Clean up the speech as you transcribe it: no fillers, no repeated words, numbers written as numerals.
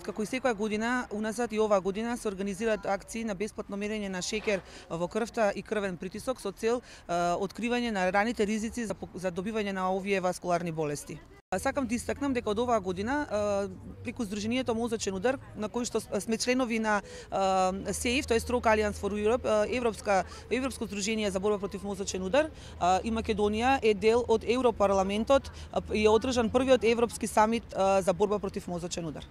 како и секоја година, уназад и оваа година се организираат акции на бесплатно мерење на шеќер во крвта и крвен притисок со цел откривање на раните ризици за добивање на овие васкуларни болести. Сакам да истакнам дека од оваа година преку Сдруженијето Мозочен удар, на кој што сме членови на СЕИФ, тоа е Stroke Alliance for Europe, Европско здружение за борба против мозочен удар, и Македонија е дел од Европарламентот и е одржан првиот европски самит за борба против мозочен удар.